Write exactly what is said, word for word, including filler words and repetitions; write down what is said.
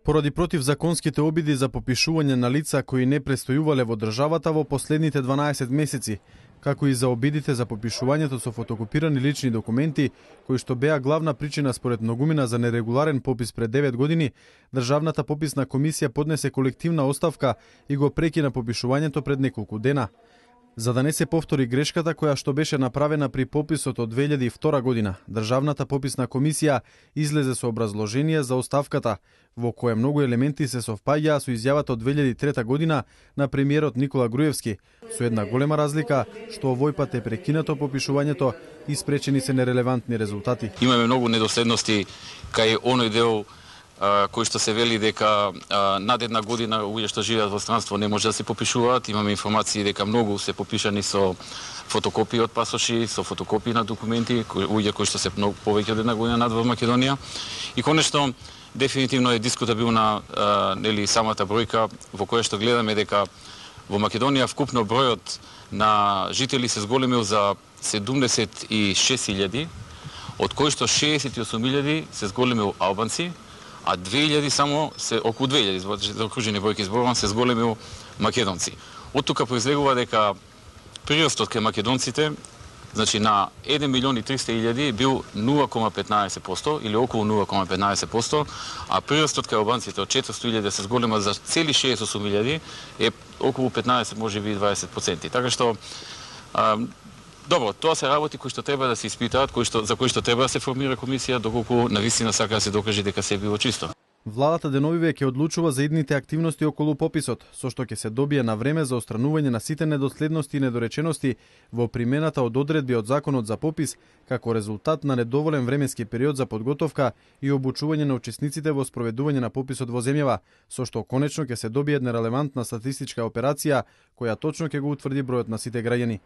Поради противзаконските обиди за попишување на лица кои не престојувале во државата во последните дванаесет месеци, како и за обидите за попишувањето со фотокопирани лични документи, кои што беа главна причина според многумина за нерегуларен попис пред девет години, Државната пописна комисија поднесе колективна оставка и го прекина попишувањето пред неколку дена. За да не се повтори грешката која што беше направена при пописот од две илјади и втора година, Државната пописна комисија излезе со образложение за оставката, во кое многу елементи се совпаѓаа со изјавата од две илјади и трета година на премиерот Никола Груевски, со една голема разлика што овој пат е прекинато попишувањето и спречени се нерелевантни резултати. Имаме многу недоследности кај оној дел кој што се вели дека а, над една година луѓе што живеат во странство не може да се попишуваат. Имаме информации дека многу се попишани со фотокопии од пасоши, со фотокопии на документи, луѓе кои што се многу повеќе од една година над во Македонија. И конечно, дефинитивно е дискутабилна а, нели самата бројка во која што гледаме дека во Македонија вкупно бројот на жители се зголемил за седумдесет и шест илјади, од кои што шеесет и осум илјади се зголемил албанци, а две илјади само се околу две илјади, за окружени бројки зборувам, се зголемил македонци. Од тука произлегува дека прирастот кај македонците, значи на еден милион и триста илјади бил нула кома петнаесет проценти или околу нула кома петнаесет проценти, а прирастот кај албанците од четиристотини илјади се зголема за цели шеесет и осум илјади е околу петнаесет, можеби и дваесет проценти. Така што а, добро, тоа се работи кои што треба да се испитаат, кои што, за кои што треба да се формира комисија, доколку навистина сака да се докаже дека се било чисто. Владата деновиве ќе одлучува за идните активности околу пописот, со што ќе се добие на време за отстранување на сите недоследности и недоречености во примената од одредби од Законот за попис, како резултат на недоволен временски период за подготовка и обучување на учесниците во спроведување на пописот во земјава, со што конечно ќе се добие една релевантна статистичка операција која точно ќе го утврди бројот на сите граѓани.